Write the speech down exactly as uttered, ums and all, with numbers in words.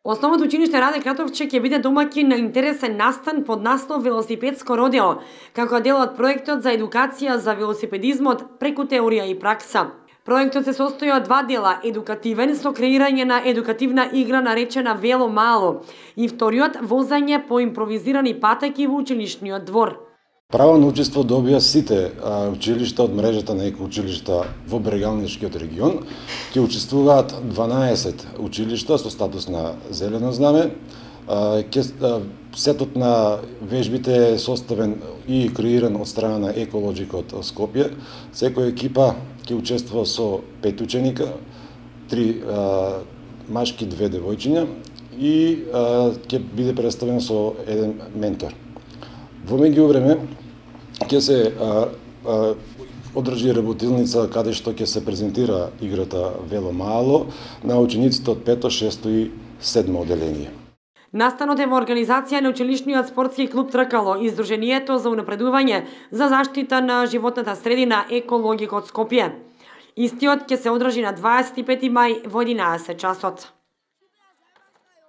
Основното училиште Раде Кратовче ќе биде домаќин на интересен настан под наслов Велосипедско родео, како дел од проектот за едукација за велосипедизмот преку теорија и пракса. Проектот се состои од два дела: едукативен со креирање на едукативна игра наречена Вело Мало и вториот возење по импровизирани патеки во училишниот двор. Право на учество добија сите а, училишта од мрежата на екоучилишта во Брегалничкиот регион. Ќе учествуваат дванаесет училишта со статус на зелено знаме. А, ке, а, сетот на вежбите е составен и креиран од страна на Еколоджик од Скопје. Секоја екипа ќе учествува со пет ученика, три а, машки, две девојчиња и а, ќе биде представено со еден ментор. Во меѓувреме ќе се а, а, одржи работилница каде што ќе се презентира играта Вело Мало на учениците од пето, шесто и седмо оделение. Настанот е во организација на училишниот спортски клуб Тркало и Сдруженијето за унапредување за заштита на животната средина Екологик од Скопје. Истиот ќе се одржи на дваесет и пети мај во единаесет часот.